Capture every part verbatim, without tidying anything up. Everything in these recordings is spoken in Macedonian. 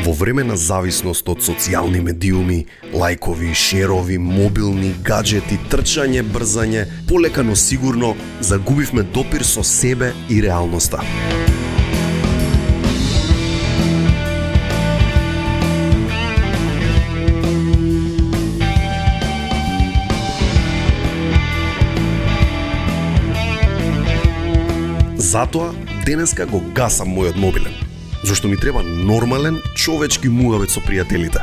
Во време на зависност од социјални медиуми, лајкови, шерови, мобилни, гаджети, трчање, брзање, полека но сигурно загубивме допир со себе и реалноста. Затоа, денеска го гасам мојот мобилен, зашто ми треба нормален, човечки муавет со пријателите.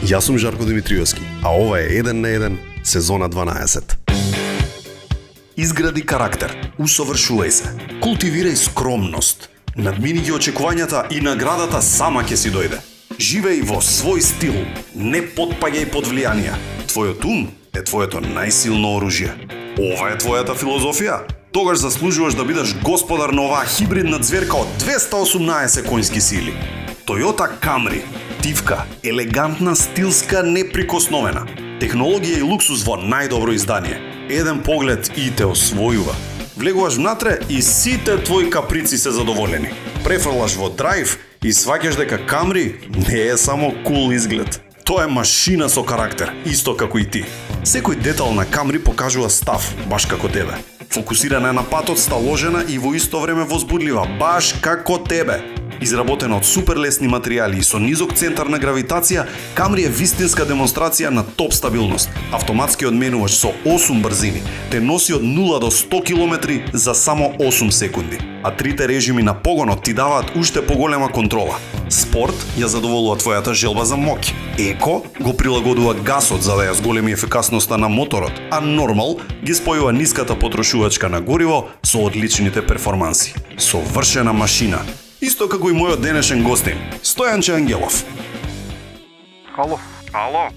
Јас сум Жарко Димитриевски, а ова е еден на еден, сезона дванаесет. Изгради карактер, усовршувај се, култивирај скромност, надмини ги очекувањата и наградата сама ќе си дојде. Живеј во свој стил, не потпаѓај под влијанија. Твојот ум е твоето најсилно оружје. Ова е твојата филозофија? Тогаш заслужуваш да бидеш господар на оваа хибридна зверка од двеста осумнаесет коњски сили. Toyota Camry. Тивка, елегантна, стилска, неприкосновена. Технологија и луксус во најдобро издание. Еден поглед и те освојува. Влегуваш внатре и сите твои каприци се задоволени. Префрлаш во драйв и сваќаш дека Camry не е само кул изглед. Тоа е машина со карактер, исто како и ти. Секој детал на Camry покажува став, баш како тебе. Фокусирана е на патот, сталожена и во исто време возбудлива, баш како тебе. Изработена од суперлесни материјали и со низок центар на гравитација, Camry е вистинска демонстрација на топ стабилност. Автоматски одменуваш со осум брзини, те носи од нула до сто километри за само осум секунди. А трите режими на погонот ти даваат уште поголема контрола. Спорт ја задоволува твојата желба за моќ. Еко го прилагодува гасот за да ја зголеми ефикасноста на моторот, а нормал ги спојува ниската потрошувачка на гориво со одличните перформанси. Совршена машина. Исто како и мојот денешен гостин, Стојанче Ангелов. Ало. Ало?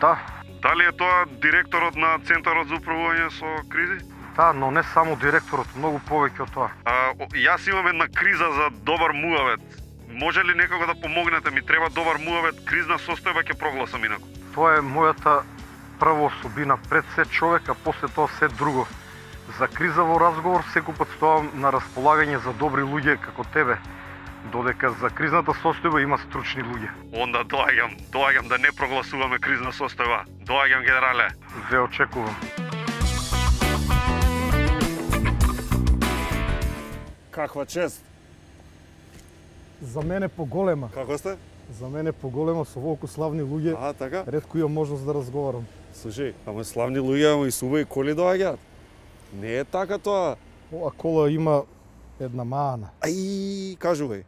Да. Дали е тоа директорот на Центарот за управување со кризи? Да, но не само директорот, многу повеќе од тоа. А, јас имам една криза за добар муавет. Може ли некако да помогнете? Ми треба добар муавет, кризна состојба ќе прогласам инаку. Тоа е мојата прва особина, пред се човек, а после тоа се друго. За криза во разговор секој пат стоам на располагање за добри луѓе како тебе. Додека за кризната состојба има стручни луѓе. Онда доаѓам, доаѓам да не прогласуваме кризна состојба. Доаѓам, генерале. Ве очекувам. Каква чест. За мене поголема. Како сте? За мене поголема, со волку славни луѓе. А, така? Ретко имам можност да разговарам. Слушај, ама славни луѓе, ама и субави коли доаѓаат. Не е така тоа. Ова кола има една маана. Ај, кажувај.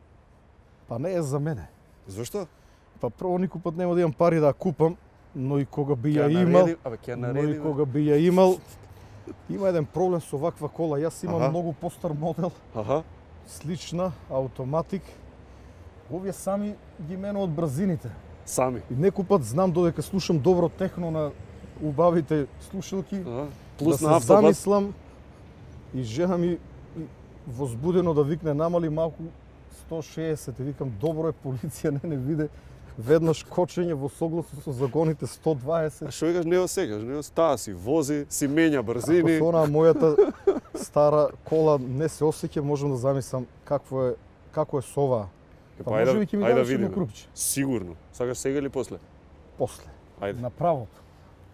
Па не е за мене. Зошто? Па прво никој пат нема да имам пари да ја купам, но и кога би ја Ќе имал, нареди, абе ќе но нареди. и кога би ја имал, има еден проблем со ваква кола. Јас имам Аха. многу постар модел, Аха. слична, автоматик. Овие сами ги менуваат брзините. Сами. И некој пат знам додека слушам добро техно на убавите слушалки, Аха. Плюс да на се автобат. замислам и жена ми возбудено да викне намали малку сто шеесет и викам добро е полиција не не виде веднаш кочење во согласно со законите сто дваесет. А што викаш, не осекаш, не таа си вози, си менја Ако брзини. со онаа мојата стара кола не се осеќа, можам да замислам какво е како е со оваа. Е, Па ајде, може би ќе ми ајде дадеш едно видиме. крупче. Сигурно. Сакаш сега или после? После. Ајде. На правото.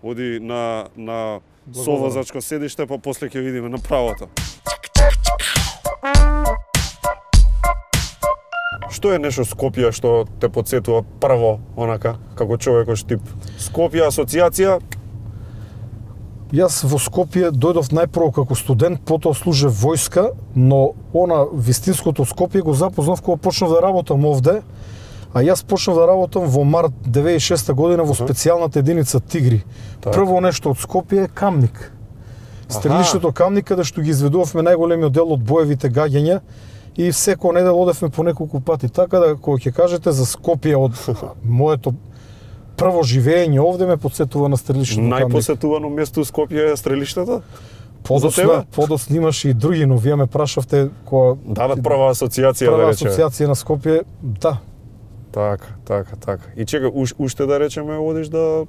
Оди на на Благодарам. совозачко седиште, па после ќе видиме на правото. Што е нешто Скопје што те потсетува прво, онака, како човекош тип? Скопје асоциација? Јас во Скопје дојдов најпрво како студент, потоа служев војска, но она вистинското Скопје го запознав кога почнав да работам овде, а јас почнав да работам во март деветдесет и шеста година во специјалната единица Тигри. Так. Прво нешто од Скопје е Камник. Стрелиштето Камник, каде што ги изведувавме најголемиот дел од боевите гаѓања и секоја недела одевме по неколку пати. Така да, кога ќе кажете за Скопје од моето прво живење овде, ме потсетува на стрелиштето Камник. Најпосетувано место у Скопје е стрелиштето? За Подосна, тебе? подосна имаше и други, но вие ме прашавте кога Дадат прва асоциација, прва да речеме. асоциација на Скопје, да. Така, така, така. И чека, уш, уште да речеме, одиш да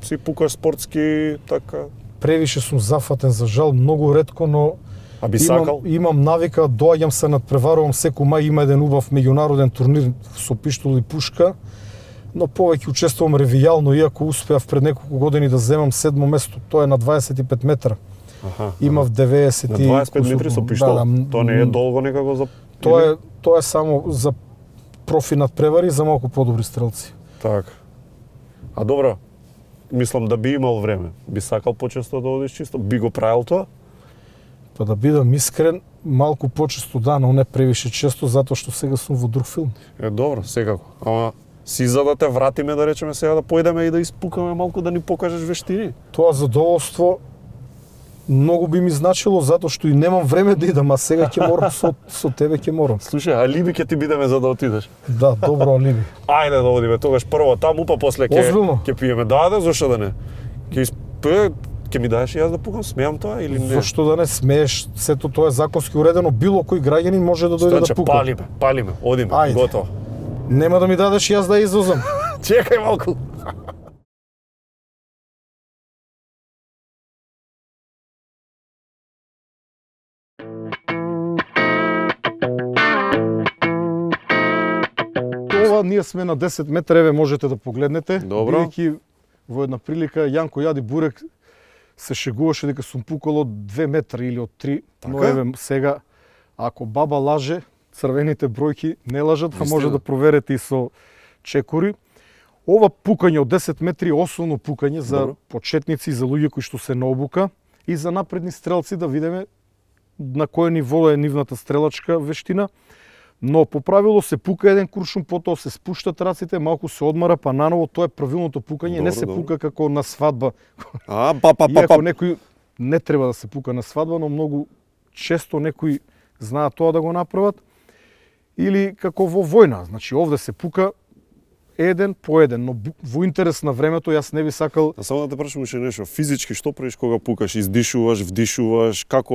си пукаш спортски, така. Превише сум зафатен, за жал, многу ретко, но А би сакал? Имам, имам навика, доаѓам се надпреварувам секој мај, има еден убав меѓународен турнир со пиштол и пушка, но повеќе учествувам ревијално, иако успеав пред неколку години да земам седмо место, тоа е на дваесет и пет метра. Аха. Имав деветдесет на дваесет и пет метри со пиштол. Да, да, тоа не е долго некако за Тоа е тоа е само за профи надпревари, за малку подобри стрелци. Така. А добро, мислам да би имал време. Би сакал почесто да одиш чисто? Би го правил тоа? Па да бидам искрен, малку почесто да, но не превише често, затоа што сега сум во друг филм. Е, добро, секако. Ама си за да те вратиме, да речеме сега да појдеме и да испукаме малку, да ни покажеш вештини? Тоа задоволство многу би ми значило, затоа што и немам време да идам, а сега ќе морам со, со тебе ќе морам. Слушај, алиби ќе ти бидеме за да отидеш. Да, добро алиби. Ајде да одиме тогаш прво таму, па после ќе ќе пиеме. Да, да, зошто да не? Ќе исп... ќе ми дадеш и јас да пукам, смеам тоа или не? Зошто да не смееш? Сето тоа е законски уредено, било кој граѓанин може да дојде да пука. Палиме, палиме, одиме, Ајде. Готово. Нема да ми дадеш јас да извозам. Чекај малку. Ова ние сме на десет метра, еве можете да погледнете. Добро. Бидејќи во една прилика Јанко Јади Бурек се шегуваше дека сум пукал од две метри или од три, така? Но еве сега, ако баба лаже, црвените бројки не лажат, а може да проверите и со чекори. Ова пукање од десет метри е основно пукање за Добро. почетници, за луѓе кои што се на обука и за напредни стрелци да видиме на кој ниво е нивната стрелачка вештина. Но по правило се пука еден куршум, потоа се спуштат раците, малку се одмара, па наново тоа е правилното пукање, Добро, не се добро. пука како на свадба. А, па, па, па, Иако па. некој не треба да се пука на свадба, но многу често некои знаат тоа да го направат. Или како во војна, значи овде се пука еден по еден, но во интерес на времето јас не би сакал. А само да те прашам уште нешто, физички што правиш кога пукаш? Издишуваш, вдишуваш, како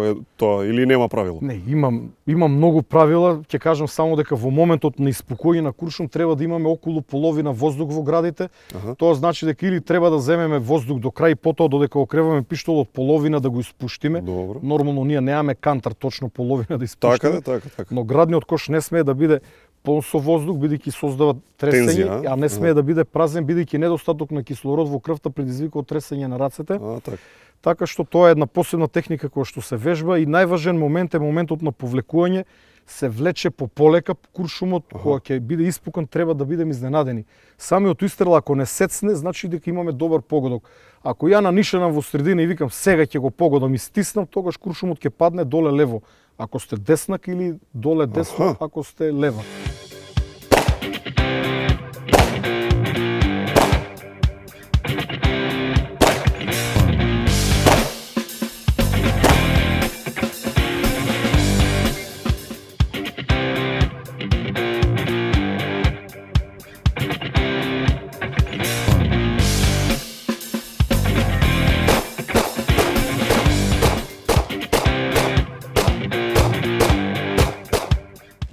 е тоа или нема правило? Не, имам имам многу правила, ќе кажам само дека во моментот на испукување на куршум треба да имаме околу половина воздух во градите. Аха. Тоа значи дека или треба да земеме воздух до крај, потоа додека окреваме пиштолот половина да го испуштиме. Добро. Нормално ние немаме кантар точно половина да испуштиме. Така да, така, така. Но градниот кош не смее да биде полн со воздух, бидејќи создава тресење, Тензија, а? а не смее да биде празен, бидејќи недостаток на кислород во крвта предизвикува тресење на рацете. А, така. Така што тоа е една посебна техника која што се вежба и најважен момент е моментот на повлекување, се влече по полека куршумот, кога ќе биде испукан треба да бидеме изненадени. Самиот истрел ако не сецне, значи дека имаме добар погодок. Ако ја нанишенам во средина и викам сега ќе го погодам и стиснам, тогаш куршумот ќе падне доле лево. Ако сте деснак или доле десно, Аха. ако сте лева.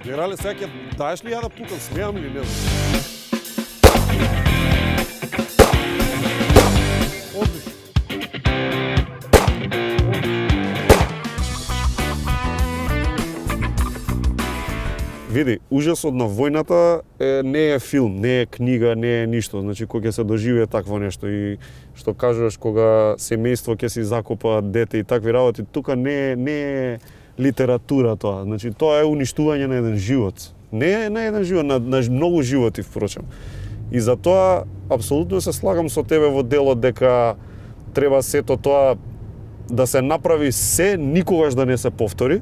Генерале, сега ќе даеш ли ја да пукам, смеам ли, не знам. Одлично. Види, ужасот на војната е, не е филм, не е книга, не е ништо. Значи, кога ќе се доживее такво нешто и што кажуваш кога семејство ќе си закопа дете и такви работи, тука не е, не е литература тоа. Значи, тоа е уништување на еден живот. Не е на еден живот, на, на многу животи, впрочем. И затоа, апсолутно се слагам со тебе во делот дека треба сето тоа да се направи се, никогаш да не се повтори,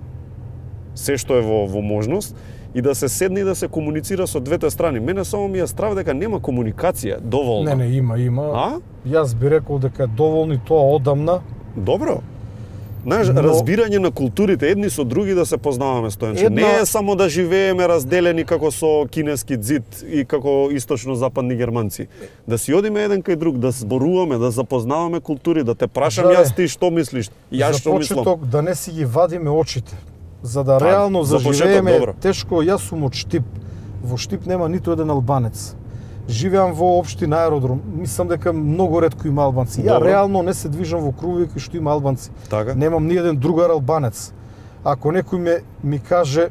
се што е во, во можност, и да се седне и да се комуницира со двете страни. Мене само ми е страв дека нема комуникација доволна. Не, не, има, има. А? Јас би рекол дека е доволни тоа одамна. Добро. Знаеш, Но- разбирање на културите едни со други да се познаваме стојанче. Една- Не е само да живееме разделени како со кинески ѕид и како источно-западни германци. Да си одиме еден кај друг, да зборуваме, да запознаваме култури, да те прашам Да, јас е. ти што мислиш, јас За што мислам. почеток да не си ги вадиме очите. За да Па, реално за почеток, заживееме добро. тешко, јас сум од Штип. Во Штип нема ниту еден албанец. живеам во општина Аеродром. Мислам дека многу ретко има албанци. Ја Добро. реално не се движам во кругови кои што има албанци. Така? Немам ни еден другар албанец. Ако некој ме ми каже,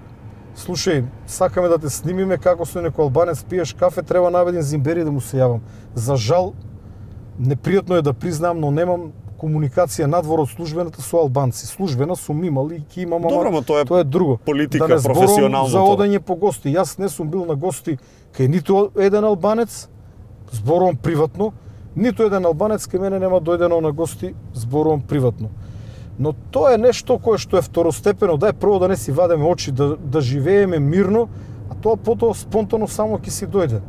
слушај, сакаме да те снимиме како со некој албанец пиеш кафе, треба наведен зимбери да му се јавам. За жал, непријатно е да признам, но немам комуникација надвор од службената со албанци. Службена сум имал и ќе имам, ама Добро, ма тоа е тоа е друго. политика, да не зборувам професионално за тоа. одење по гости. Јас не сум бил на гости кај ниту еден албанец, зборувам приватно, ниту еден албанец кај мене нема дојдено на гости, зборувам приватно. Но тоа е нешто кое што е второстепено, дај прво да не си вадеме очи, да, да живееме мирно, а тоа потоа спонтано само ќе си дојде.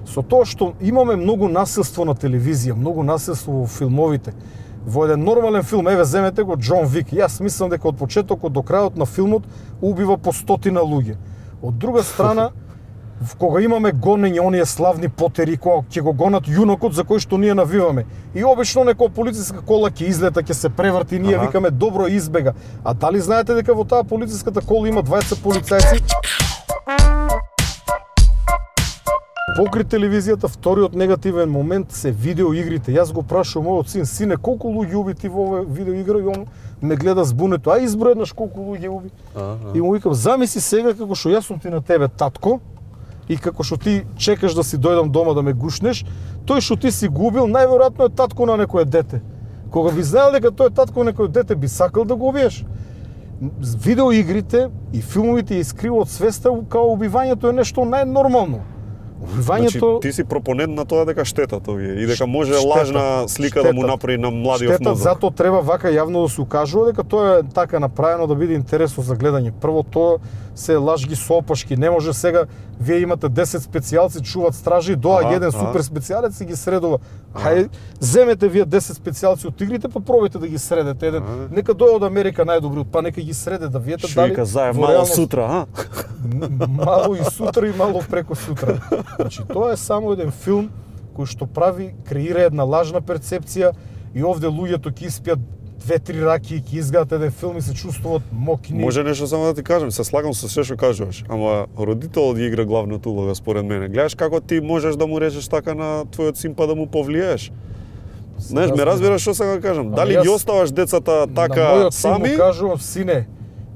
Со тоа што имаме многу насилство на телевизија, многу насилство во филмовите. Во еден нормален филм, еве земете го Џон Вик, јас мислам дека од почетокот до крајот на филмот убива по стотина луѓе. Од друга страна, кога имаме гонење оние славни потери, кога ќе го гонат јунокот за кој што ние навиваме. И обично некоја полициска кола ќе излета, ќе се преврти и ние Аха. викаме добро избега. А дали знаете дека во таа полициската кола има дваесет полицајци? Покри телевизијата, вториот негативен момент се видеоигрите. Јас го прашувам мојот син, сине, колку луѓе уби ти во оваа видеоигра? И он ме гледа збунето, а изброј еднаш колку луѓе уби. Аха. И му викам, замисли сега како што јас сум ти на тебе татко, и како што ти чекаш да си дојдам дома да ме гушнеш, тој што ти си губил, најверојатно е татко на некое дете. Кога би знаел дека тој е татко на некое дете, би сакал да го убиеш. Видеоигрите и филмовите ја искриваат свеста као убивањето е нешто најнормално. Убивањето... Значи, ти си пропонент на тоа дека штетат овие и дека може Штетат, лажна слика да му штетат. направи на младиот Штетат, мозок. затоа треба вака јавно да се укажува дека тоа е така направено да биде интересно за гледање. Прво тоа се лажги соопашки, не може сега вие имате десет специјалци, чуват стражи, доаѓа Ага, еден ага. супер специјалец и ги средува. Хај, земете вие десет специјалци од игрите, па пробајте да ги средете еден. Ага. Нека дојде од Америка најдобри, па нека ги среде да видите Што дали вика заев во мало реалност- сутра, а? Мало и сутра и мало преку сутра. Значи, тоа е само еден филм кој што прави, креира една лажна перцепција и овде луѓето ќе испијат две-три раки и ќе изгледат еден филм и се чувствуваат мокни. Може нешто само да ти кажам, се слагам со се што кажуваш, ама родителот ги игра главната улога според мене. Гледаш како ти можеш да му речеш така на твојот син па да му повлиеш. Знаеш, ме разбираш што сакам да кажам? Ама Дали јас ги оставаш децата На така мојот син сами? му кажувам, сине,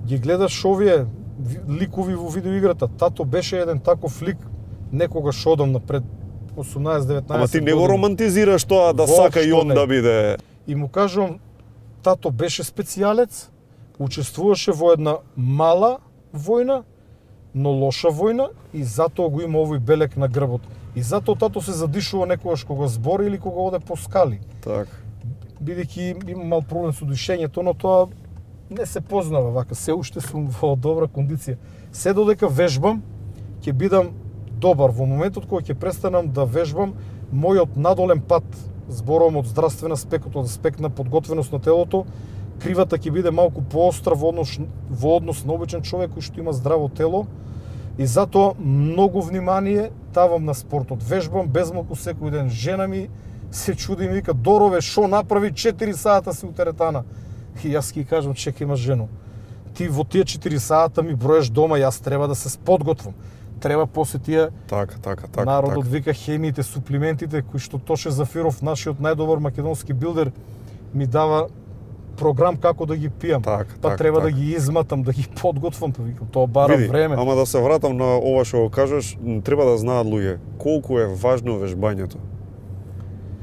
ги гледаш овие ви- ликови во видеоиграта. Тато беше еден таков лик некогаш одам напред осумнаесет-деветнаесет Ама ти не го години. романтизираш тоа да Воопшто сака и он не. да биде. И му кажувам, тато беше специјалец, учествуваше во една мала војна, но лоша војна и затоа го има овој белек на грбот. И затоа тато се задишува некогаш кога збори или кога оде по скали. Така. Бидејќи има мал проблем со дишењето, но тоа не се познава вака, се уште сум во добра кондиција. Се додека вежбам, ќе бидам добар. Во моментот кога ќе престанам да вежбам, мојот надолен пат, зборувам од здравствен аспект, од аспект на подготвеност на телото, кривата ќе биде малку поостра во однос, во однос на обичен човек кој што има здраво тело. И затоа многу внимание давам на спортот. Вежбам безмалку секој ден. Жена ми се чуди и ми вика, Дорове, шо направи четири сата си у теретана? И јас ќе кажам, чека, имаш жено. Ти во тие четири сата ми броеш дома, јас треба да се подготвам. Треба после тие Така, така, така. народот така. вика хемиите, суплиментите, кои што Тоше Зафиров, нашиот најдобар македонски билдер, ми дава програм како да ги пијам. Така, па така, треба така. да ги изматам, да ги подготвам, па викам, тоа бара Види, време. ама да се вратам на ова што го кажеш, м, треба да знаат луѓе колку е важно вежбањето.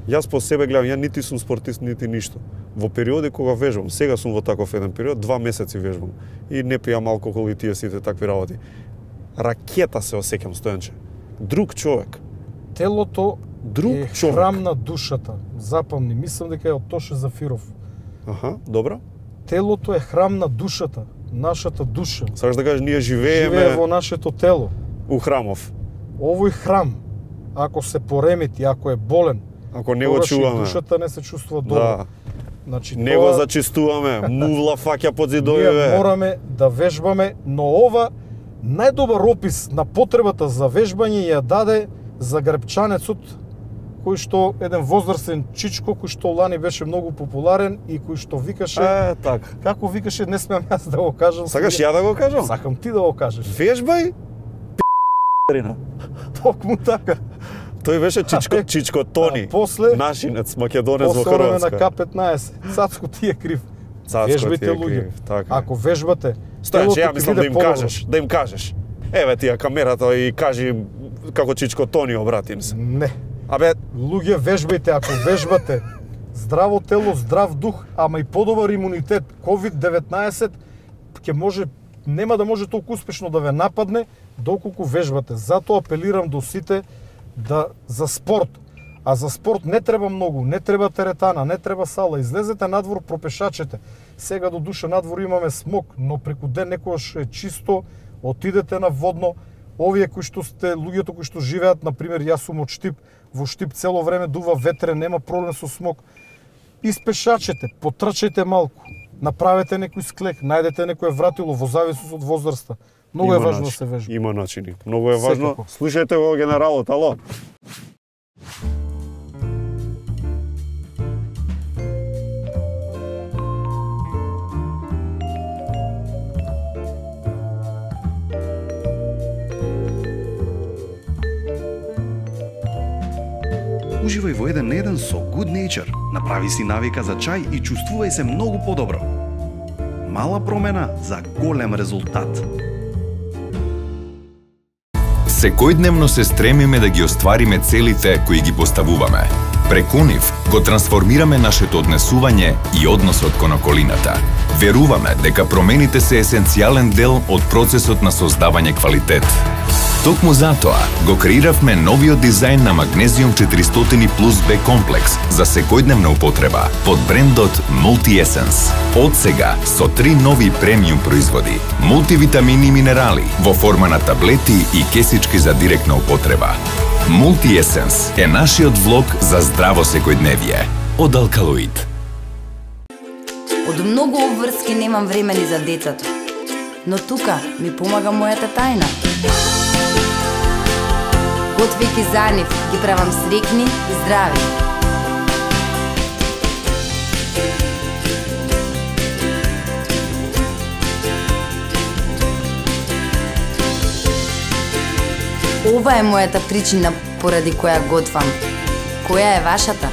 Јас по себе гледам, ја нити сум спортист, нити ништо. Во периоди кога вежбам, сега сум во таков еден период, два месеци вежбам и не пијам алкохол и тие сите такви работи. Ракета се осеќам, Стојанче. Друг човек. Телото Друг е човек. храм на душата. Запомни, мислам дека е од Тоше Зафиров. Аха, добро. Телото е храм на душата, нашата душа. Сакаш да кажеш, ние живееме Живее во нашето тело. у храмов. Овој храм, ако се поремети, ако е болен, Ако не го тогаш и чуваме. душата не се чувствува добро. Да. Значи, Не го зачистуваме, мувла фаќа под ние зидовиве. мораме да вежбаме, но ова најдобар опис на потребата за вежбање ја даде загребчанецот, кој што еден возрастен чичко, кој што лани беше многу популарен и кој што викаше, Е, така. како викаше, не смеам јас да го кажам. Сакаш сега. ја да го кажам? Сакам ти да го кажеш. Вежбај, Токму така. Тој беше Чичко, Чичко Тони, а после, нашинец, македонец во Хрватска. После време Хрватска. на К петнаесет, Цацко ти е крив. Цацко Вежбите ти е луѓе. крив, така. Ако вежбате, Стојаче, ја телото ќе мислам да биде им подобро. кажеш, да им кажеш. Еве ти ја камерата и кажи како Чичко Тони, обратим се. Не. Абе, Луѓе, вежбајте, ако вежбате, здраво тело, здрав дух, ама и подобар имунитет. ковид деветнаесет ќе може, нема да може толку успешно да ве нападне доколку вежбате. Затоа апелирам до сите да за спорт. А за спорт не треба многу, не треба теретана, не треба сала. Излезете надвор, пропешачете. Сега до душа надвор имаме смог, но преку ден некојаш е чисто, отидете на водно. Овие кои што сте, луѓето кои што живеат, на пример, јас сум од Штип, во Штип цело време дува ветре, нема проблем со смог. Испешачете, потрчајте малку, направете некој склек, најдете некое вратило во зависност од возраста. Многу е важно да се вежба. Има начини. Многу е важно. Секако. Слушајте го генералот, ало. Уживај во еден на еден со Good Nature. Направи си навика за чај и чувствувај се многу подобро. Мала промена за голем резултат. Секојдневно се стремиме да ги оствариме целите кои ги поставуваме. Преку нив го трансформираме нашето однесување и односот кон околината. Веруваме дека промените се есенцијален дел од процесот на создавање квалитет. Токму затоа го креиравме новиот дизајн на Магнезиум четиристотини плюс Б комплекс за секојдневна употреба под брендот Multi Essence. Од сега со три нови премиум производи, мултивитамини и минерали во форма на таблети и кесички за директна употреба. Multi Essence е нашиот влог за здраво секојдневие од Алкалоид. Од многу обврски немам време ни за децата, но тука ми помага мојата тајна. Готвејќи за нив, ги правам срекни и здрави. Ова е мојата причина поради која готвам. Која е вашата?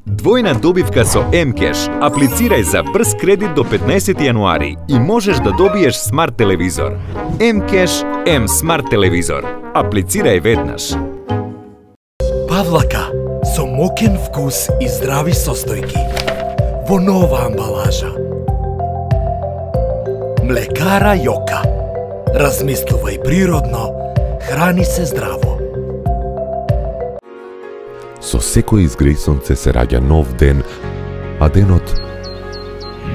Двојна добивка со М-Кеш. Аплицирај за брз кредит до петнаесети јануари и можеш да добиеш смарт телевизор. М-Кеш М смарт телевизор. Аплицирај веднаш. Павлака со мокен вкус и здрави состојки во нова амбалажа. Млекара Јока. Размислувај природно, храни се здраво. Со секој изгреј сонце се раѓа нов ден, а денот,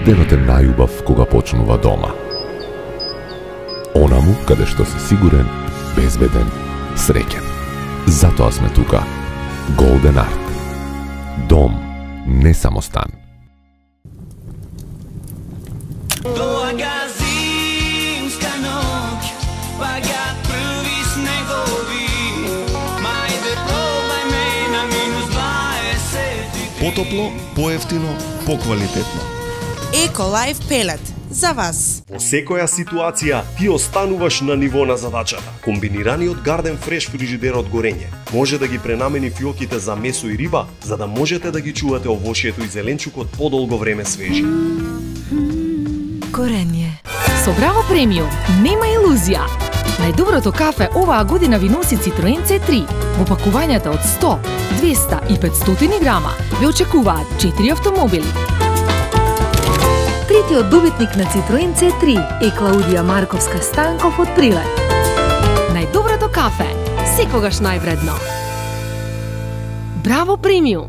денот е најубав кога почнува дома. Онаму каде што си сигурен, безбеден, среќен. Затоа сме тука. Golden Art. Дом, не само стан. Долага зимска ноќ, паѓаат први снегови. Мајде пробај ме на минус дваесет. Потопло, поевтино, поквалитетно. Еколайф пелет за вас. Во секоја ситуација ти остануваш на ниво на задачата. Комбинираниот Garden Fresh фрижидер од горење може да ги пренамени фиоките за месо и риба, за да можете да ги чувате овошјето и зеленчукот подолго време свежи. Горење. Со Браво премиум нема илузија. Најдоброто кафе оваа година ви носи Citroen Це три. Во пакувањата од сто, двеста и петстотини грама ве очекуваат четири автомобили. Третиот добитник на Citroen Це три е Клаудија Марковска Станков од Прилеп. Најдоброто кафе, секогаш највредно. Браво премиум.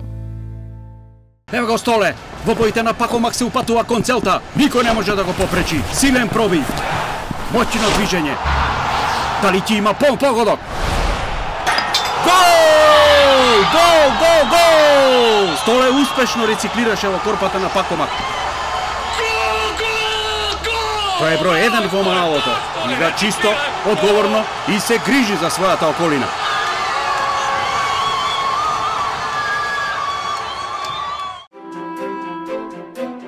Ево го Столе, во боите на Пакомак се упатува кон целта. Никој не може да го попречи. Силен пробив. Моќно движење. Дали ти има пол погодок? Гол! Гол, гол, гол! Столе успешно рециклираше во корпата на Пакомак. Тој е број еден во малото. Игра чисто, одговорно и се грижи за својата околина.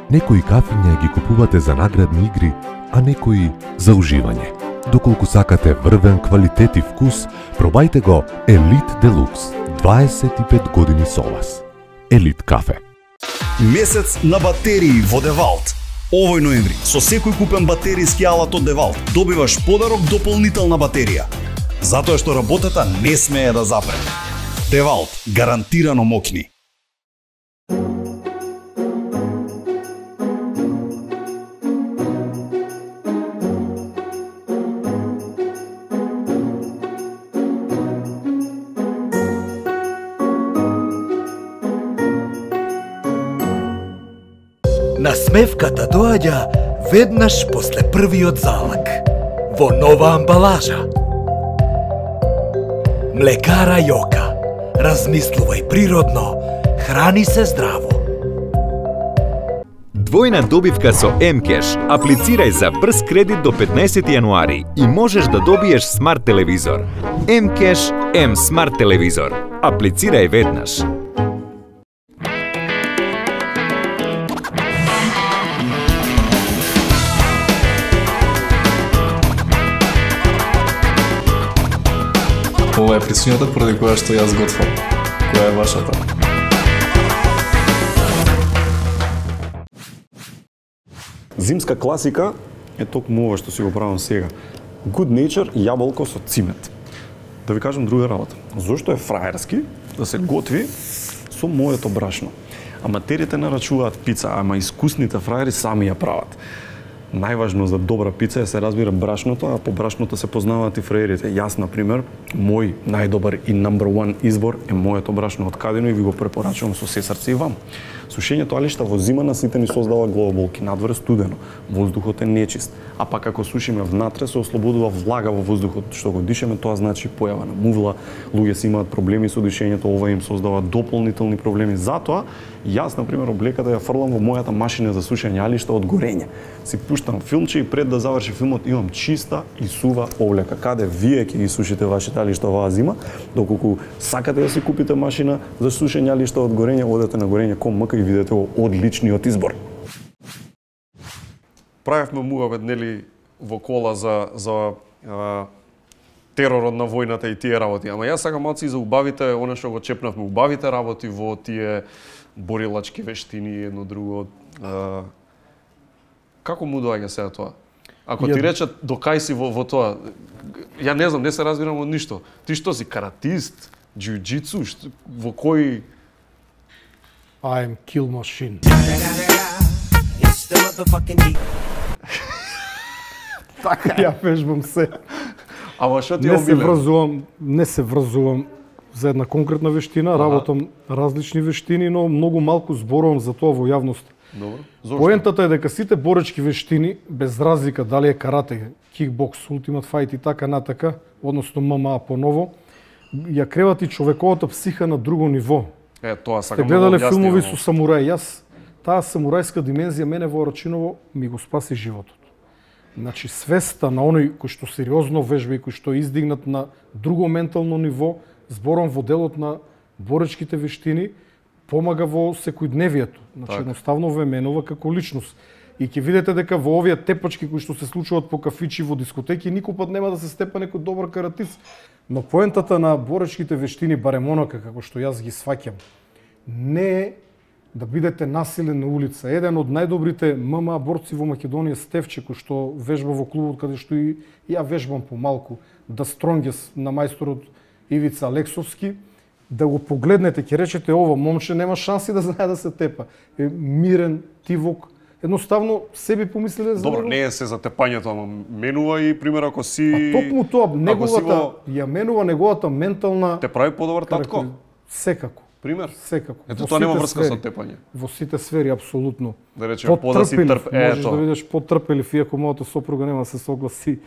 Некои кафиња ги купувате за наградни игри, а некои за уживање. Доколку сакате врвен квалитет и вкус, пробајте го Елит Делукс. дваесет и пет години со вас. Елит кафе. Месец на батерии во Девалт. Овој ноември, со секој купен батеријски алат од Девалт, добиваш подарок дополнителна батерија. Затоа што работата не смее да запре. Девалт, гарантирано мокни. Насмевката доаѓа веднаш после првиот залак, во нова амбалажа. Млекара Јока. Размислувај природно, храни се здраво. Двојна добивка со М-кеш. Аплицирај за брз кредит до петнаесети јануари и можеш да добиеш смарт телевизор. М-кеш, М смарт телевизор. Аплицирај веднаш. Ова е причината поради која што јас готвам. Која е вашата? Зимска класика е токму ова што си го правам сега. Good Nature јаболко со цимет. Да ви кажам друга работа. Зошто е фраерски да се готви со моето брашно? Аматерите нарачуваат пица, ама искусните фраери сами ја прават. Најважно за добра пица е се разбира брашното, а по брашното се познаваат и фраерите. Јас, например, мој најдобар и number one избор е моето брашно од Кадино и ви го препорачувам со се срце и вам. Сушењето алишта во зимана сите ни создава главоболки, надвор е студено, воздухот е нечист, а пак ако сушиме внатре се ослободува влага во воздухот, што го дишеме, тоа значи појава на мувла, луѓе си имаат проблеми со дишењето, ова им создава дополнителни проблеми. Затоа, јас, например, облеката ја фрлам во мојата машина за сушење алишта од горење. Си пуштам филмче и пред да заврши филмот имам чиста и сува облека. Каде вие ќе ги сушите вашите алишта оваа зима, доколку сакате да си купите машина за сушење алишта од горење, одете на горење точка ком и видете го одличниот избор. Правевме муавет, нели, во кола за за а, теророт на војната и тие работи. Ама јас сакам малку за убавите, она што го чепнавме, убавите работи во тие борилачки вештини и едно друго. А, како му доаѓа сега тоа? Ако ти речат до кај си во, во тоа, ја не знам, не се разбирам од ништо. Ти што си каратист, џиу-џицу, што, во кој I'm kill machine. Така ја вежбам се. Ама што ти не се омилен? врзувам, не се врзувам за една конкретна вештина, работам различни вештини, но многу малку зборувам за тоа во јавност. Добро. Зошто? Поентата е дека сите боречки вештини, без разлика дали е карате, кикбокс, ултимат фајт и така натака, односно ем ем а поново, ја кревати човековата психа на друго ниво. Е, тоа Сте сакам гледале да филмови објасни, со самурај, јас таа самурајска димензија мене во Рачиново ми го спаси животот. Значи свеста на оној кој што сериозно вежба и кој што е издигнат на друго ментално ниво, зборам во делот на боречките вештини, помага во секојдневието. Значи Так. едноставно ве менува како личност. И ќе видите дека во овие тепачки кои што се случуваат по кафичи во дискотеки никој пат нема да се степа некој добар каратист. Но поентата на боречките вештини, барем онака како што јас ги сваќам, не е да бидете насилен на улица. Еден од најдобрите ем ем а борци во Македонија, Стевче, кој што вежба во клубот каде што и ја вежбам помалку, да стронгес на мајсторот Ивица Алексовски, да го погледнете, ќе речете ова момче нема шанси да знае да се тепа. Е мирен, тивок, едноставно себе помислиле за Добро, него. не е се за тепањето, ама менува и пример ако си А токму тоа, неговата, во... ја менува неговата ментална... Те прави подобар татко? Секако. Пример? Секако. Ето Во тоа нема сите врска сфери. со тепање. Во сите сфери, апсолутно. Да речеме, по да си трп, можеш ето. да видиш потрпелив, иако мојата сопруга нема да се согласи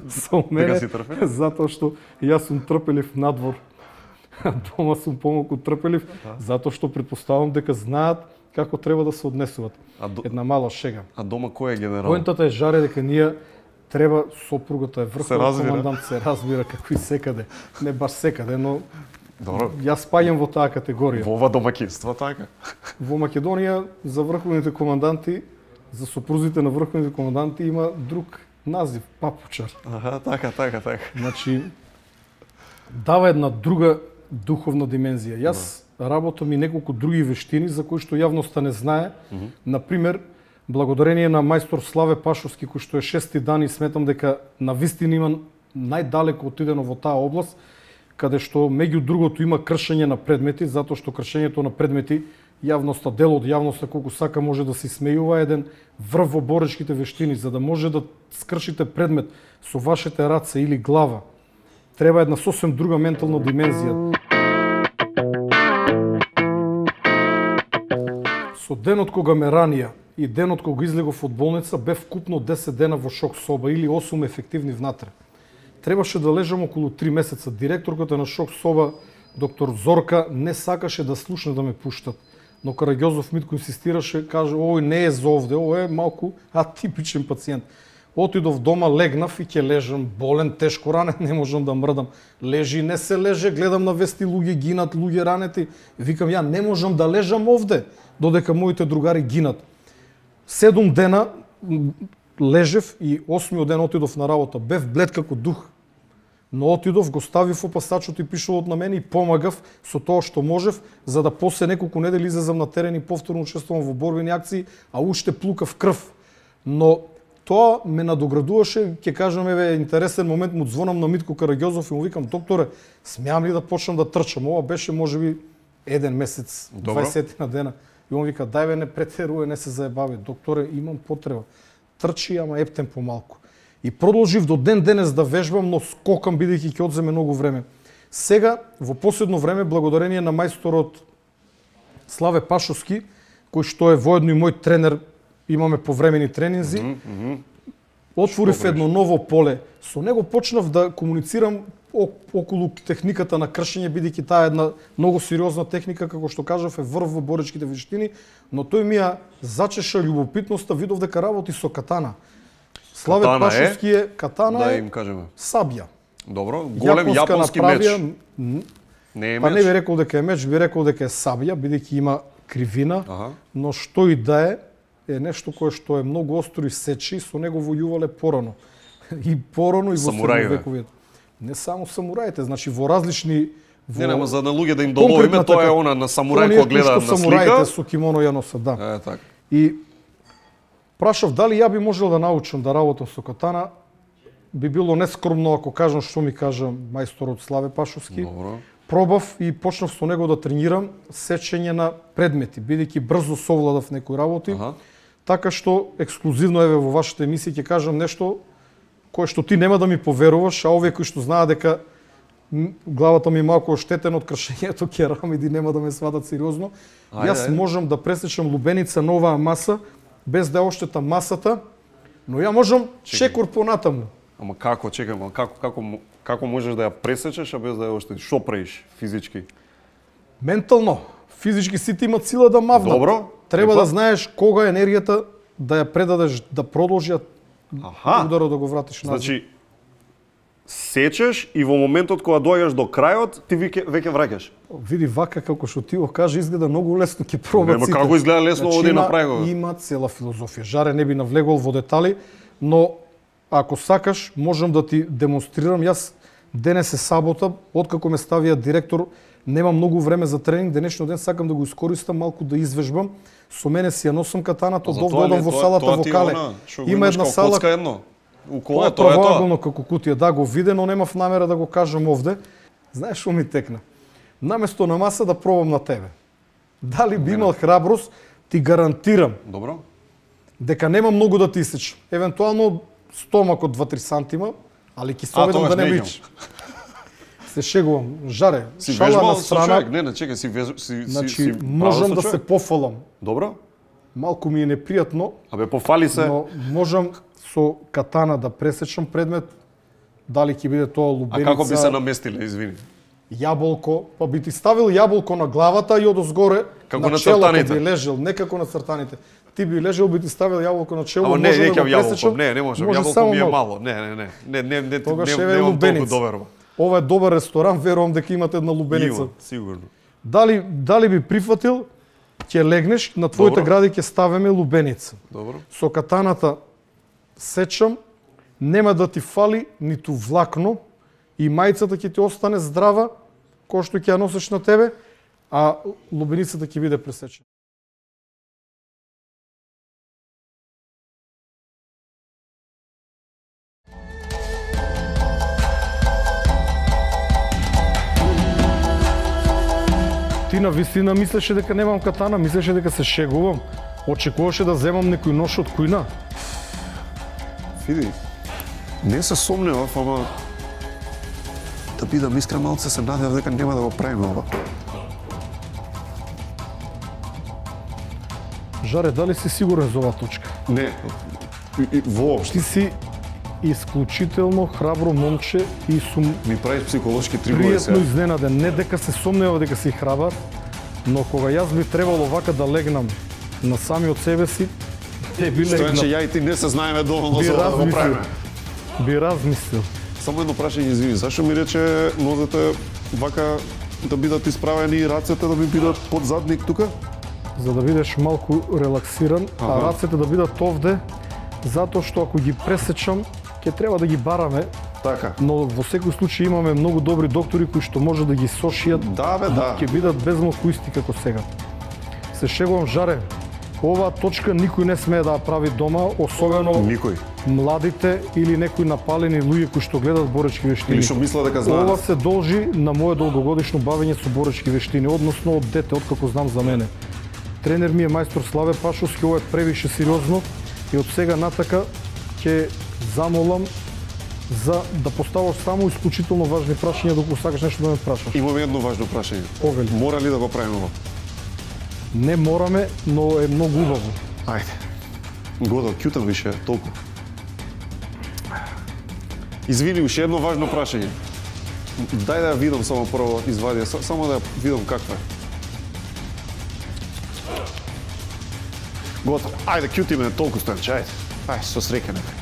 со мене, Дека си трпелив? затоа што јас сум трпелив надвор, а дома сум помалку трпелив, затоа што предпоставам дека знаат како треба да се однесуваат. А до... Една мала шега. А дома кој е генерал? Поентата е жаре дека ние треба, сопругата е Се врховен разбира. командант, се разбира како и секаде. Не баш секаде, но Добро. Јас спаѓам во таа категорија. Во ова домаќинство така. Во Македонија за врховните команданти, за сопрузите на врховните команданти има друг Назив папучар. Аха, така, така, така. Значи дава една друга духовна димензија. Јас работам и неколку други вештини за кои што јавноста не знае. Мгм. Например, благодарение на мајстор Славе Пашовски, кој што е шести дан и сметам дека на вистина има најдалеко отидено во таа област, каде што меѓу другото има кршење на предмети, затоа што кршењето на предмети јавноста, дел од јавноста колку сака може да се смејува еден врв во боречките вештини, за да може да скршите предмет со вашите раце или глава. Треба една сосем друга ментална димензија. Со денот кога ме ранија и денот кога излегов од болница, бев вкупно десет дена во шок соба или осум ефективни внатре. Требаше да лежам околу три месеца. Директорката на шок соба, доктор Зорка, не сакаше да слушне да ме пуштат. Но Караѓозов Митко инсистираше, каже, ој не е за овде, ој е малку атипичен пациент. Отидов дома, легнав и ќе лежам, болен, тешко ранен, не можам да мрдам. Лежи, не се леже, гледам на вести, луѓе гинат, луѓе ранети. Викам, ја не можам да лежам овде, додека моите другари гинат. Седум дена лежев и осмиот ден отидов на работа. Бев блед како дух. Но отидов, го ставив опасачот и пишувот на мене и помагав со тоа што можев, за да после неколку недели излезам на терен и повторно учествувам во борбени акции, а уште плукав крв. Но тоа ме надоградуваше, ќе кажам, еве, интересен момент, му звонам на Митко Караѓозов и му викам, докторе, смеам ли да почнам да трчам? Ова беше можеби еден месец, дваесет на дена. И он вика, дај бе, не претеруе, не се заебави. Докторе, имам потреба. Трчи, ама ептен помалку. И продолжив до ден денес да вежбам, но скокам бидејќи ќе одземе многу време. Сега, во последно време, благодарение на мајсторот Славе Пашовски, кој што е воедно и мој тренер, имаме повремени тренинзи, mm -hmm. отворив едно ново поле. Со него почнав да комуницирам околу техниката на кршење, бидејќи таа е една многу сериозна техника, како што кажав, е врв во боречките вештини, но тој ми ја зачеша љубопитноста, видов дека работи со катана. Славе Катана Пашовски е, катана да е им кажеме. Сабја. Добро, голем јапонски меч. Не е Па меч. не би рекол дека е меч, би рекол дека е сабја, бидејќи има кривина, Аха. но што и да е, е нешто кое што е многу остро и сечи, со него војувале порано. И порано и во Самураиве. средновековието. Не само самураите, значи во различни во... Не, нема за на луѓе да им доловиме, тоа е она на самурај кој гледа на слика. Самураите со кимоно ја носат, да. Е, така. И прашав дали ја би можел да научам да работам со катана. Би било нескромно ако кажам што ми кажа мајсторот Славе Пашовски. Добро. Пробав и почнав со него да тренирам сечење на предмети, бидејќи брзо совладав некои работи. Аха. Така што ексклузивно еве во вашата емисија ќе кажам нешто кое што ти нема да ми поверуваш, а овие кои што знаат дека главата ми е малку оштетена од кршењето керамиди, нема да ме сватат сериозно. Ајде, Јас ајде. можам да пресечам лубеница на оваа маса без да оштетам масата, но ја можам чекор понатаму. Ама како, чекај, ама како, како, мо- како можеш да ја пресечеш, а без да ја оштетиш? Што правиш физички? Ментално, физички сите имат сила да мавнат. Добро. Треба Епа. да знаеш кога енергијата да ја предадеш, да продолжи, а Аха. ударот да го вратиш назад. Значи, сечеш и во моментот кога доаѓаш до крајот, ти веќе веќе враќаш. Види вака како што ти го кажа, изгледа многу лесно, ќе пробат Нема сите. како изгледа лесно, оди има- направи го. Има цела филозофија. Жаре не би навлегол во детали, но ако сакаш, можам да ти демонстрирам. Јас денес е сабота, откако ме ставија директор, немам многу време за тренинг, денешниот ден сакам да го искористам малку да извежбам. Со мене си ја носам катаната, За од тоа овде ли- одам во тоа- салата тоа во ти е Кале. она, што го Има имаш една како сала коцка едно. У Тоа кола, е тоа е тоа. правоаголно како кутија, да го виде, но немав намера да го кажам овде. Знаеш што ми текна? Наместо на маса да пробам на тебе. Дали би имал храброст, ти гарантирам Добро. дека нема многу да ти исече. Евентуално стомак од два-три сантима, али ќе се А, обидам тогаш да не не бич. Се шегувам. Жаре, Си шала вежбал на со страна. човек, не, не, чекај, си веж, си Значи, си, си можам правил да со се човек. пофалам. Добро. Малку ми е непријатно, Абе пофали се. но можам со катана да пресечам предмет. Дали ќе биде тоа А лубеница, како би се наместиле, извини? јаболко, па би ти ставил јаболко на главата и одозгоре Како на челото цртаните. би лежел, не како на цртаните. Ти би лежел, би ти ставил јаболко на чело, Ама не, може не да ќе го јаболко, пресечам, не, не можам, може јаболко само ми е малку. мало. Не, не, не. Не, не, не, Тогаш не, еве немам толку лубеница. доверба. Ова е добар ресторан, верувам дека имате една лубеница. Има, сигурно. Дали дали би прифатил, ќе легнеш, на твоите Добро. гради ќе ставиме лубеница. Добро. Со катаната сечам нема да ти фали ниту влакно и мајцата ќе ти остане здрава, кој што ќе ја носиш на тебе, а лубеницата ќе биде пресечена. Ти на вистина мислеше дека немам катана, мислеше дека се шегувам. Очекуваше да земам некој нож од кујна. Види, не се сомневав, ама да бидам искрен, малце се надев дека нема да го правиме ова. Жаре, дали си сигурен за оваа точка? Не, и, и, воопшто. Ти си исклучително храбро момче и сум ми правиш психолошки трибови сега. Пријатно изненаден, не дека се сомнева дека си храбар, но кога јас би требало вака да легнам на сами од себе си, те би легнал. Што е, че ја и ти не се знаеме доволно за да го правиме. Би размислил. Само едно прашање, извини, зашо ми рече нозете вака да бидат исправени и рацете да ми бидат под задник тука? За да бидеш малку релаксиран, ага. А рацете да бидат овде, затоа што ако ги пресечам, ќе треба да ги бараме. Така. Но во секој случај имаме многу добри доктори кои што може да ги сошијат. Да, бе, да. Ќе бидат безмалку исти како сега. Се шегувам, Жаре. Оваа точка никој не смее да ја прави дома, особено никој. Младите или некои напалени луѓе кои што гледат боречки вештини. Или што мислат дека знаат. Ова се должи на моје долгогодишно бавење со боречки вештини, односно од дете, откако знам за мене. Тренер ми е мајстор Славе Пашовски, ова е превише сериозно и од сега натака ќе замолам за да поставаш само исклучително важни прашања доколку сакаш нешто да ме прашаш. Имаме едно важно прашање. Овели. Мора ли да го правиме ова? Не мораме, но е многу убаво. Ајде. Годо, кјутам више, толку. Извини, уште едно важно прашање. Дај да ја видам само прво извадија, само да ја видам каква е. Готово. Ајде, кјутиме толку Стојанче, ајде. Ајде, со среќа нека.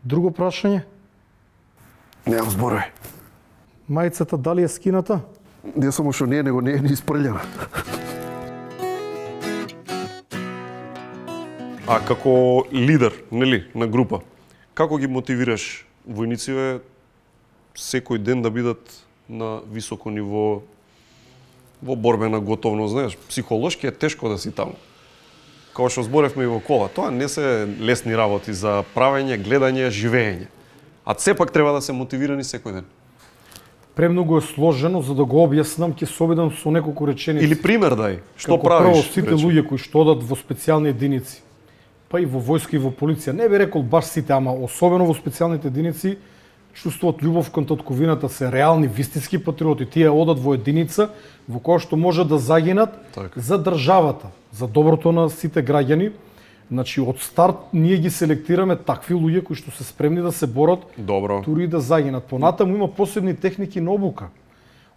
Друго прашање? Немам зборови. Мајцата дали е скината? Не само што не е, него не е ни испрљена. А како лидер, нели, на група, како ги мотивираш војниците секој ден да бидат на високо ниво во борбена готовност, знаеш, психолошки е тешко да си таму. Као што зборевме и во кола, тоа не се лесни работи за правење, гледање, живење. А сепак треба да се мотивирани секој ден. Премногу е сложено, за да го објаснам, ќе се обидам со неколку реченици. Или пример дај, што како правиш? Прво, сите речи. Луѓе кои што одат во специјални единици, па и во војска и во полиција, не би рекол баш сите, ама особено во специјалните единици, чувствуваат љубов кон татковината, се реални вистински патриоти. Тие одат во единица во која што може да загинат так. За државата, за доброто на сите граѓани. Значи од старт ние ги селектираме такви луѓе кои што се спремни да се борат, добро, тури да загинат. Понатаму има посебни техники на обука.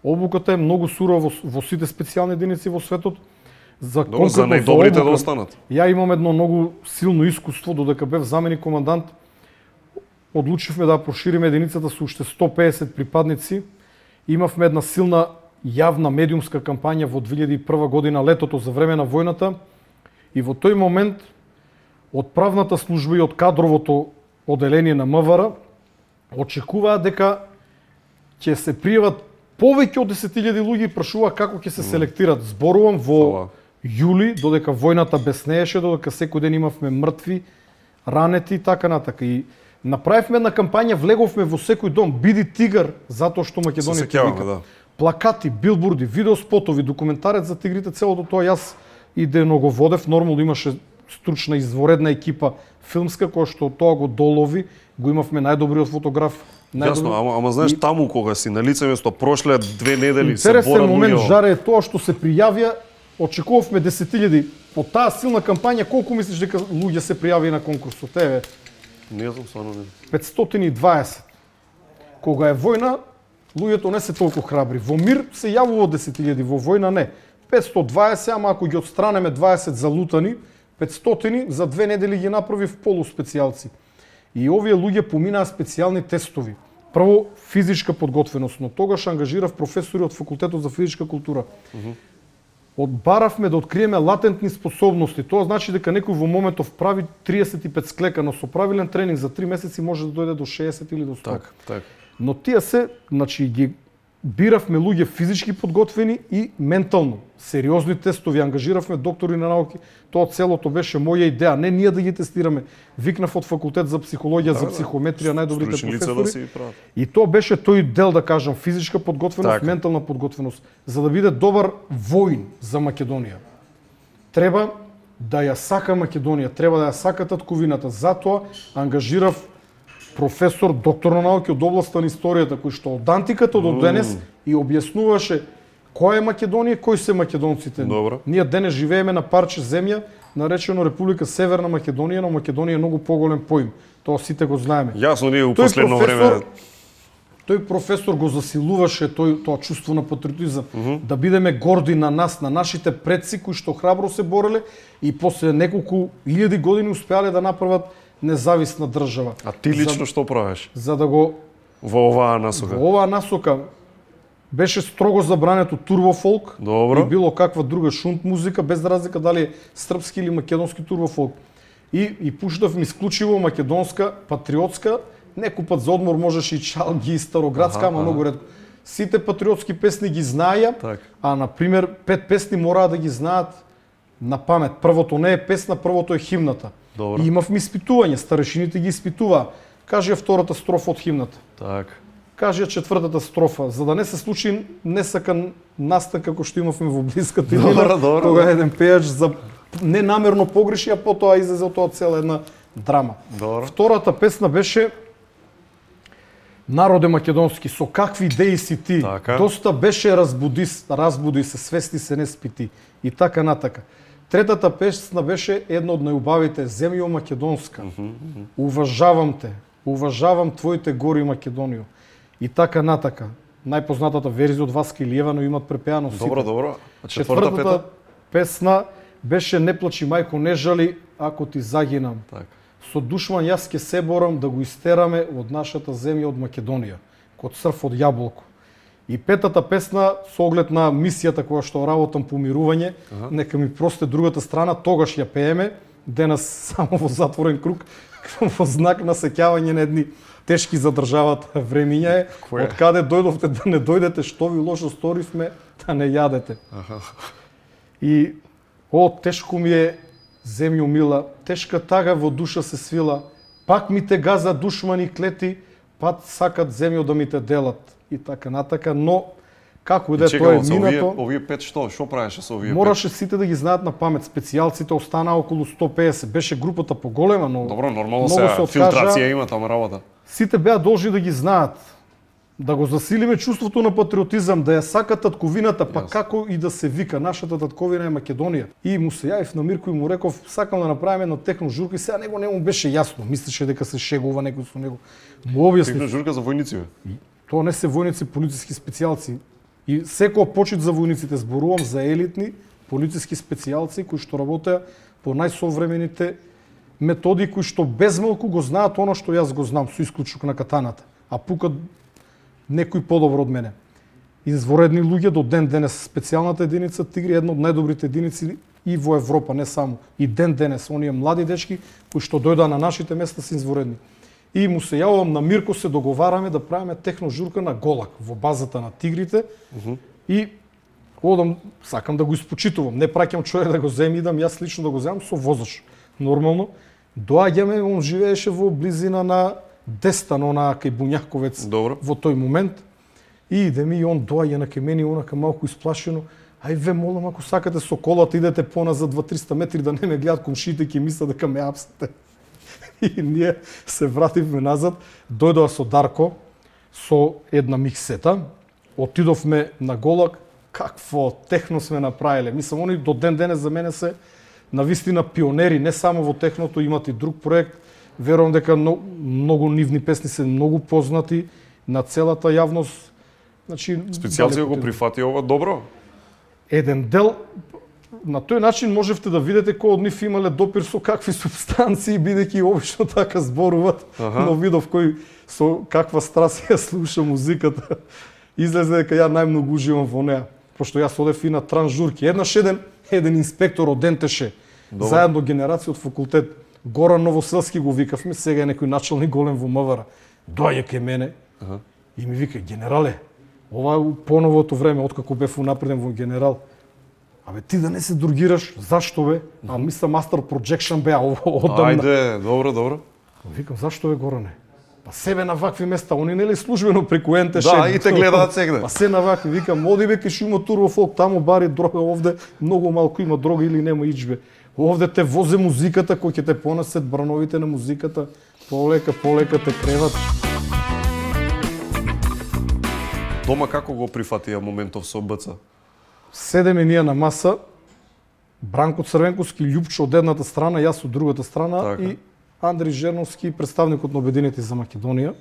Обуката е многу сурова во, во сите специјални единици во светот. За добро, за најдобрите да останат. Ја имам едно многу силно искуство, додека бев заменик командант. Одлучивме да прошириме единицата со уште сто педесет припадници. Имавме една силна јавна медиумска кампања во две илјади и прва година, летото за време на војната. И во тој момент од правната служба и од кадровото оделение на МВР очекуваа дека ќе се пријават повеќе од десет илјади луѓе и прашуваа како ќе се селектират. Зборувам во јули, додека војната беснееше, додека секој ден имавме мртви, ранети и така натака. И направивме една кампања, влеговме во секој дом, биди тигар, затоа што македоните викаат. Да. Плакати, билборди, видеоспотови, документарец за тигрите, целото тоа јас и дено го водев, нормално имаше стручна изворедна екипа филмска која што тоа го долови, го имавме најдобриот фотограф Јасно, ама, ама знаеш, и... таму кога си на лице место прошле две недели се борат луѓе. Интересен момент, Жаре, е тоа што се пријавија, очекувавме десет илјади. По таа силна кампања, колку мислиш дека луѓе се пријави на конкурсот? Еве. Не знам, стварно не. петстотини и дваесет. Кога е војна, луѓето не се толку храбри. Во мир се јавува десет илјади, во војна не. петстотини и дваесет, ама ако ги отстранеме дваесет залутани, петстотини за две недели ги направи в полуспецијалци. И овие луѓе поминаа специјални тестови. Прво физичка подготвеност, но тогаш ангажирав професори од факултетот за физичка култура. Mm -hmm. Одбаравме да откриеме латентни способности. Тоа значи дека некој во моментов прави триесет и пет склека, но со правилен тренинг за три месеци може да дојде до шеесет или до сто. Так, так. Но тие се, значи ги биравме луѓе физички подготвени и ментално. Сериозни тестови, ангажиравме доктори на науки. Тоа целото беше моја идеја, не ние да ги тестираме. Викнав од факултет за психологија, да, за психометрија, најдобрите професори. Да, и тоа беше тој дел, да кажам, физичка подготвеност, так, ментална подготвеност. За да биде добар воин за Македонија, треба да ја сака Македонија, треба да ја сака татковината. Затоа ангажирав професор, доктор на науки од областа на историјата, кој што од антиката до денес и објаснуваше која е Македонија, кои се македонците. Добро. Ние денес живееме на парче земја, наречено Република Северна Македонија, но Македонија е многу поголем поим. Тоа сите го знаеме. Јасно, ние у последно време... Тој професор го засилуваше тој, тоа чувство на патриотизам, mm -hmm. да бидеме горди на нас, на нашите предци кои што храбро се бореле и после неколку илјади години успеале да направат независна држава. А ти лично за, што правиш? За да го... Во оваа насока? Во оваа насока беше строго забрането турбофолк. Добро. И било каква друга шунт музика, без разлика дали е српски или македонски турбофолк. И, и пуштав ми исклучиво македонска, патриотска, некој пат за одмор можеш и чалги, и староградска, ама многу ретко. Сите патриотски песни ги знаја, так, а, например, пет песни мораа да ги знаат на памет. Првото не е песна, првото е химната. Добро. И имавме испитување, старешините ги испитуваа. Кажи ја втората строфа од химната. Так. Кажи ја четвртата строфа, за да не се случи несакан настан како што имавме во блиската иднина, кога еден пејач за ненамерно погреши, а потоа излезе од тоа цела една драма. Добро. Втората песна беше Народе македонски, со какви идеи си ти? Така. Доста беше разбуди, разбуди се, свести се, не спити. И така натака. Третата песна беше една од најубавите, Земјо македонска. Mm -hmm. Уважавам те, уважавам твоите гори Македонијо. И така натака. Најпознатата верзија од Васка Илиева, но имат препеано сите. Добро, добро. А четвртата пета? Песна беше Не плачи мајко, не жали, ако ти загинам. Так. Со душман јас ке се борам да го истераме од нашата земја, од Македонија, код црв од јаболко. И петата песна, со оглед на мисијата која што работам по мирување, ага, нека ми просте другата страна, тогаш ја пееме, денес само во затворен круг, во знак на сеќавање на едни тешки за државата времиња е, од каде дојдовте да не дојдете, што ви лошо сторивме, да не јадете. Ага. И, о, тешко ми е, земјо мила, тешка тага во душа се свила, пак ми те газа душмани клети, пат сакат земјо да ми те делат. И така натака, но како и да е тоа е минато. Овие, овие пет што? Што правеше со овие мораше пет? Сите да ги знаат на памет. Специјалците останаа околу сто пеесет. Беше групата поголема, но добро, нормално се, се филтрација има тама работа. Сите беа должни да ги знаат. Да го засилиме чувството на патриотизам, да ја сака татковината, па yes, како и да се вика, нашата татковина е Македонија. И му се јавив на Мирко и му реков, сакам да направиме една техножурка, и сега него не му беше јасно, мислеше дека се шегува некој со него. Му објасни. Техножурка за војници, бе? Тоа не се војници, полициски специјалци. И секој почит за војниците, зборувам за елитни полициски специјалци кои што работеа по најсовремените методи, кои што безмалку го знаат оно што јас го знам, со исклучок на катаната, а пукат некој подобро од мене. Изворедни луѓе до ден денес. Специјалната единица Тигри е една од најдобрите единици и во Европа, не само. И ден денес, оние млади дечки кои што дојдоа на нашите места се изворедни. И му се јавувам на Мирко, се договараме да правиме техножурка на Голак во базата на Тигрите. Uh -huh. И одам, сакам да го испочитувам. Не праќам човек да го земе, идам јас лично да го земам со возач. Нормално. Доаѓаме, он живееше во близина на Дестан, она кај Буњаковец. Добро. Во тој момент. И идеме и он доаѓа на кај мене, онака малку исплашено. Ај ве молам, ако сакате со колата идете поназад два-триста метри да не ме гледат комшиите, ќе мислат дека ме апсате. И ние се вративме назад, дојдоа со Дарко, со една миксета. Отидовме на Голак, какво техно сме направиле. Мислам, они до ден денес за мене се навистина пионери, не само во техното, имат и друг проект. Верувам дека много, много нивни песни се многу познати на целата јавност. Значи, специјалција го прифати ова добро? Еден дел, на тој начин можевте да видите кој од нив имале допир со какви субстанции, бидејќи обично така зборуват, ага. Но видов кој со каква страст ја слуша музиката. Излезе дека ја најмногу уживам во неа, пошто јас одев и на транжурки. Еднаш еден, еден инспектор од Дентеше, добро. Заедно генерација од факултет, Горан Новоселски го викавме, сега е некој началник голем во МВР. Доаѓа кај мене ага. И ми вика, генерале, ова е поновото време, откако бев унапреден во генерал. Абе, ти да не се другираш, зашто бе? А мисля Master Projection беа одамна. Ајде, добро, добро. Викам, зашто бе, Горане? Па себе на вакви места, они нели службено преку ен те еш. Да, и те гледаат сегде. Па се на вакви, викам, оди бе, кај има турбо фолк, таму бари дрога, овде многу малку има дрога или нема ичбе. Овде те возе музиката, кој ќе те понесет брановите на музиката, полека, полека те креват. Дома како го прифатија моментов со БЦ? Седеме ние на маса, Бранко Црвенковски, Љупчо од едната страна, јас од другата страна така. И Андри Жерновски, представникот на Обединети за Македонија.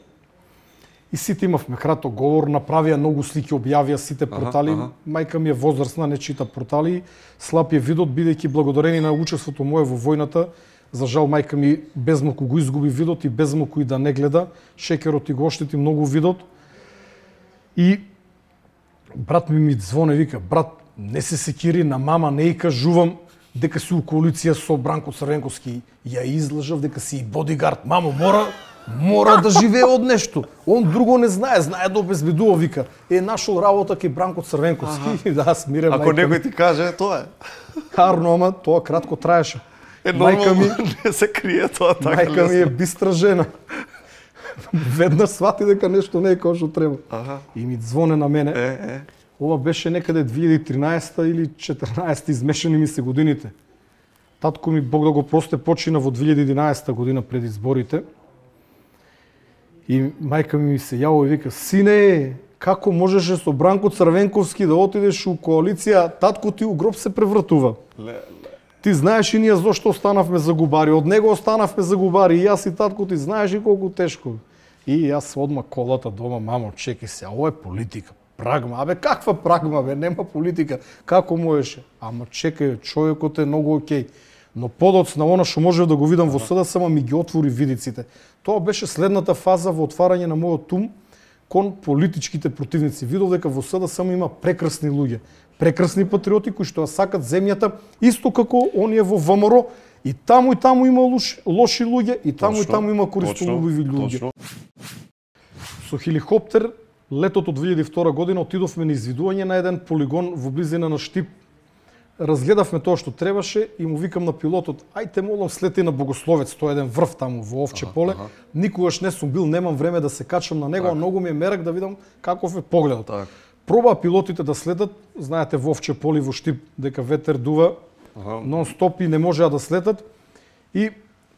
И сите имавме краток говор, направија многу слики, објавија сите портали. Ага, ага. Мајка ми е возрастна, не чита портали. Слаб е видот, бидејќи благодарени на учеството мое во војната, за жал мајка ми безмалку го изгуби видот и безмалку и да не гледа. Шекерот и го оштети многу видот. И брат ми ми звоне, вика, брат, не се секири, на мама не и кажувам дека си у коалиција со Бранко Црвенковски. Ја излажав дека си и бодигард. Мамо, мора, мора да живее од нешто. Он друго не знае, знае да обезбедува, вика. Е, нашол работа кај Бранко Црвенковски. Ага. Да, смирен ако мајка некој ти каже, тоа е. Харно, ама тоа кратко траеше. Е, мајка ми не се крие тоа така. Мајка ми е бистра жена. Веднаш свати дека нешто не е како што треба. Ага. И ми звоне на мене. Е, е. Ова беше некаде две илјади и тринаесета или четрнаесета, измешани ми се годините. Татко ми, Бог да го прости, почина во две илјади и единаесета година пред изборите. И мајка ми се јаво и вика, сине, како можеше со Бранко Црвенковски да отидеш у коалиција, татко ти у гроб се превртува. Ле, ле. Ти знаеш и ние зошто останавме загубари, од него останавме загубари, и јас и татко ти знаеш и колку тешко. И јас одма колата дома, мамо, чекај се, ова е политика. Прагма, абе каква прагма, бе, нема политика, како можеше? Ама чекај, човекот е многу окей. Но подоцна она што можев да го видам во сада, само ми ги отвори видиците. Тоа беше следната фаза во отварање на мојот ум кон политичките противници. Видов дека во сада само има прекрасни луѓе, прекрасни патриоти кои што ја сакат земјата, исто како оние во ВМРО. И таму и таму има лош, лоши луѓе, и таму точно, и таму има користолюбиви луѓе. Точно. Со хеликоптер летото две илјади и втора година отидовме на извидување на еден полигон во близина на Штип. Разгледавме тоа што требаше и му викам на пилотот, ајте молам слети на Богословец, тоа е еден врв таму во Овче ага, поле. Ага. Никогаш не сум бил, немам време да се качам на него, так. А многу ми е мерак да видам каков е погледот. Так. Пробаа пилотите да следат, знаете во Овче поле во Штип дека ветер дува ага. Нон-стоп и не можеа да слетат. И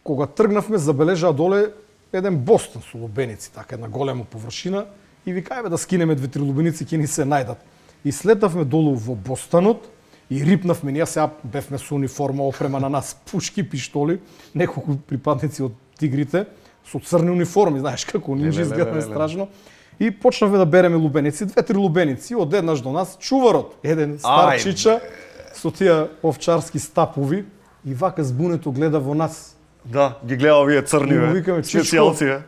кога тргнавме забележаа доле еден Бостон со лубеници, така една голема површина. И викајме да скинеме две-три лубеници, ќе ни се најдат. И слетавме долу во Бостанот и рипнавме, ние сега бевме со униформа, опрема на нас, пушки, пиштоли, неколку припадници од тигрите, со црни униформи, знаеш како нинџи изгледаме страшно. И почнавме да береме лубеници, две-три лубеници, одеднаш до нас чуварот, еден стар чича со тие овчарски стапови и вака збунето гледа во нас. Да, ги гледа овие црни, бе, специјалци.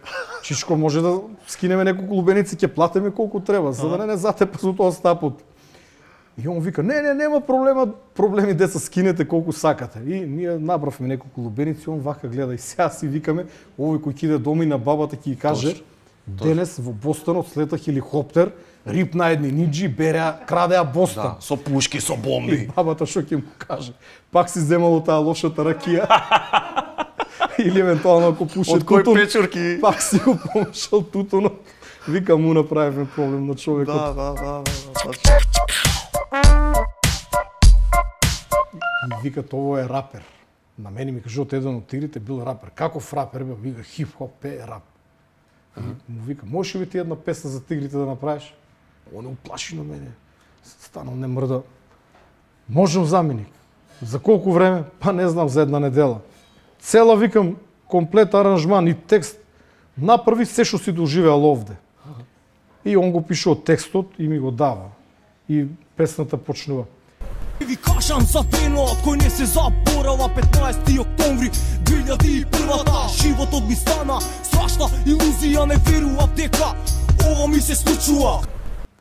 Чичко, може да скинеме неколку лубеници, ќе платиме колку треба, за да не не затепа со тоа стапот. И он вика, не, не, нема проблема, проблеми деца, скинете колку сакате. И ние набравме неколку лубеници, он вака гледа и сега си викаме, овој кој ќе иде дома и на бабата ќе ја каже, денес во Бостанот слета хеликоптер, рипна едни ниџи, береа, крадеа Бостон. Да, со пушки, со бомби. И бабата што ќе му каже? Пак си земало таа лошата ракија. Или евентуално ако пуше тутун. Од кој печурки? Пак си го помешал тутунот. Вика, му направивме проблем на човекот. Да, да, да, да. И вика, тоа е рапер. На мене ми кажуват еден од тигрите бил рапер. Каков рапер бе? Вика, хип-хоп е рап. Му вика, можеш ли ти една песна за тигрите да направиш? Он уплаши на мене. Станал не мрда. Можем заменик. За колку време? Па не знам, за една недела. Цела, викам, комплет аранжман и текст. Направи се што си доживеал овде. И он го пише од текстот и ми го дава. И песната почнува. Ви кажам за денот кој не се заборава, петнаесети октомври две илјади и прва. Животот ми стана страшна илузија, не верував дека ова ми се случува.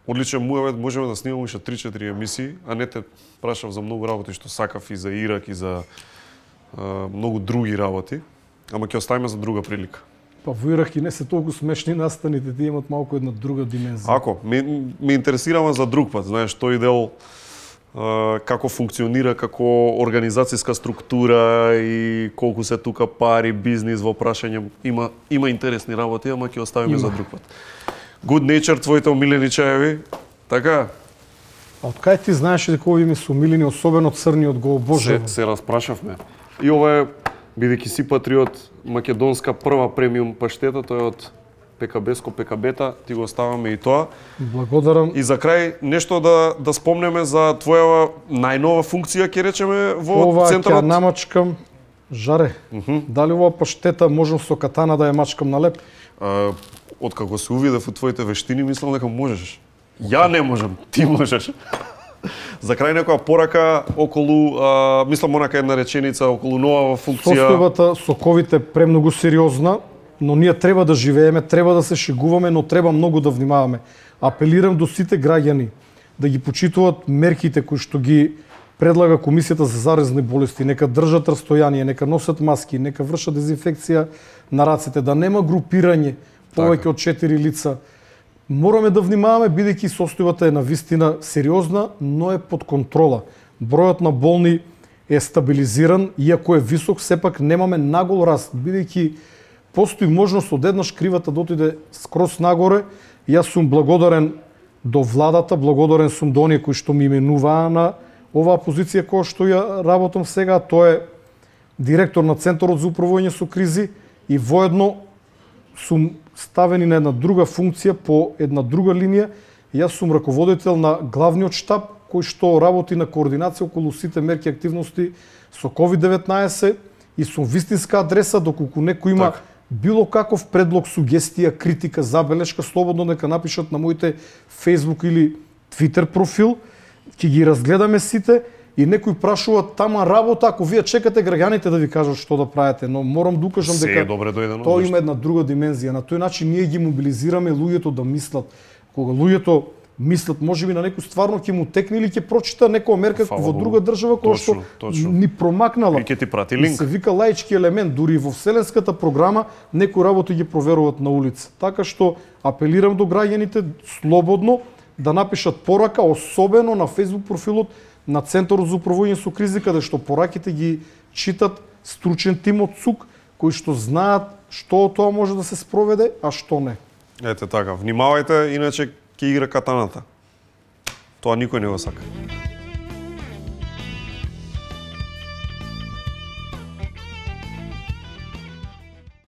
Одличен муавет, можеме да снимаме уште три-четири емисии, а не те прашав за многу работи што сакав и за Ирак и за а, многу други работи, ама ќе оставиме за друга прилика. Па во Ирак и не се толку смешни настаните, тие имат малку една друга димензија. Ако, ме, ме интересираме за друг пат, знаеш, тој дел а, како функционира како организацијска структура и колку се тука пари, бизнис во прашање, има има интересни работи, ама ќе оставиме има. За друг пат. Good Nature, твоите омилени чаеви, така? А од кај ти знаеш дека овие ми се омилени, особено црниот го обожавам? Се, се распрашавме. И ова е, бидејќи си патриот, македонска прва премиум паштета, тој е од ПКБ-ско ПКБ-та, ти го оставаме и тоа. Благодарам. И за крај нешто да да спомнеме за твоја најнова функција, ќе речеме, во ова центарот. Ова ќе намачкам, Жаре, uh -huh. Дали ова паштета можам со катана да ја мачкам на леп? Uh, Откако се увидев во твоите вештини, мислам дека можеш. Ја не можам, ти можеш. За крај некоја порака околу, а, мислам онака една реченица околу нова функција. Состојбата со ковид е премногу сериозна, но ние треба да живееме, треба да се шегуваме, но треба многу да внимаваме. Апелирам до сите граѓани да ги почитуваат мерките кои што ги предлага Комисијата за заразни болести, нека држат растојание, нека носат маски, нека вршат дезинфекција на рацете, да нема групирање повеќе од четири лица. Мораме да внимаваме, бидејќи состојбата е навистина сериозна, но е под контрола. Бројот на болни е стабилизиран, иако е висок, сепак немаме нагол раст, бидејќи постои можност одеднаш кривата да отиде скроз нагоре. Јас сум благодарен до владата, благодарен сум до оние кои што ми именуваа на оваа позиција која што ја работам сега. Тоа е директор на Центарот за управување со кризи и воедно сум ставени на една друга функција по една друга линија. Јас сум раководител на главниот штаб кој што работи на координација околу сите мерки и активности со ковид деветнаесет и сум вистинска адреса доколку некој има так. Било каков предлог, сугестија, критика, забелешка, слободно нека напишат на моите Facebook или Twitter профил, ќе ги разгледаме сите. И некој прашува тама работа, ако вие чекате граѓаните да ви кажат што да правите, но морам да укажам дека тоа има една друга димензија. На тој начин ние ги мобилизираме луѓето да мислат. Кога луѓето мислат, можеби на некој стварно ќе му текне или ќе прочита некоја мерка во друга држава која што точно. Ни промакнала. И ќе ти прати линк. Се вика лаички елемент, дури во вселенската програма некои работи ги проверуваат на улица. Така што апелирам до граѓаните слободно да напишат порака, особено на Facebook профилот на Центарот за управување со кризи, каде што пораките ги читат стручен тим од ЦУК, кои што знаат што тоа може да се спроведе, а што не. Ете така, внимавајте, иначе ќе игра катаната. Тоа никој не го сака.